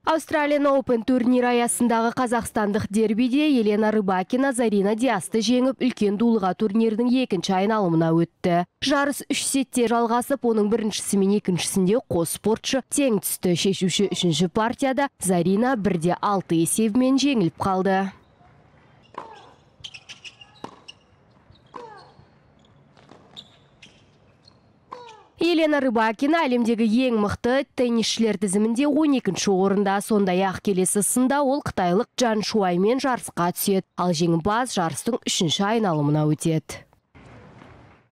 Australian Open турнир аясындағы қазақстандық дербиде Елена Рыбакина Зарина Диасты жеңіп, үлкен дулыға турнирдің екінші айналымына өтті. Жарыс 3 сетте жалғасып, оның біріншісі мен екіншісінде қос спортшы тең түсті. Шешуші үшінші партияда Зарина 1-6 есебімен жеңіліп қалды. Елена Рыбакина әлемдегі ең мықты теннисшілер тізімінде 12-ші орында. Сондай-ақ келесі сында ол қытайлық Джан Шуаймен жарысқа түседі. Ал жеңімпаз жарыстың 3-ші айналымына өтеді.